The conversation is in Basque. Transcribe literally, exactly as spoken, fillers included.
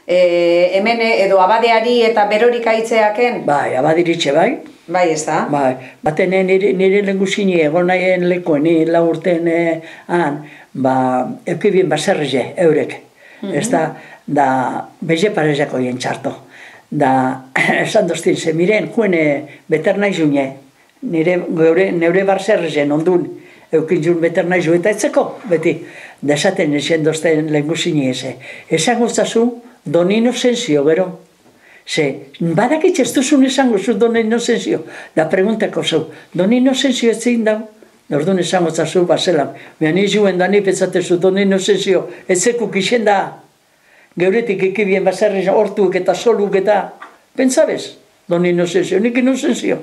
hemen edo abadeari eta berorik aitzeaken? Bai, abadiritxe bai. Bai, ez da? Bai, baten nire lengusini egon nahien lekoen, nire laurten han, ba, eukibien baserreze, eurek. Ez da, da, beze parezako hien txarto. Da, esan doztin, ze miren, juene, beter nahi zune, nire, neure baserrezen ondun, eukin zuen beter nahi zu, eta etzeko, beti. Da, esaten esan dozten lengusini eze. Esan guztazu, Don Inocencio, gero. Ze, badakitz ez duzun esango zu Don Inocencio. Da preguntako zu, Don Inocencio ez zein dau? Orduan esango zazu, bazelan. Behan izuen da ni petzatezu Don Inocencio, ez zekuk isen da. Geuretik ekibien bazarri hortuk eta soluk eta. Pentsabez, Don Inocencio, nik Inocencio.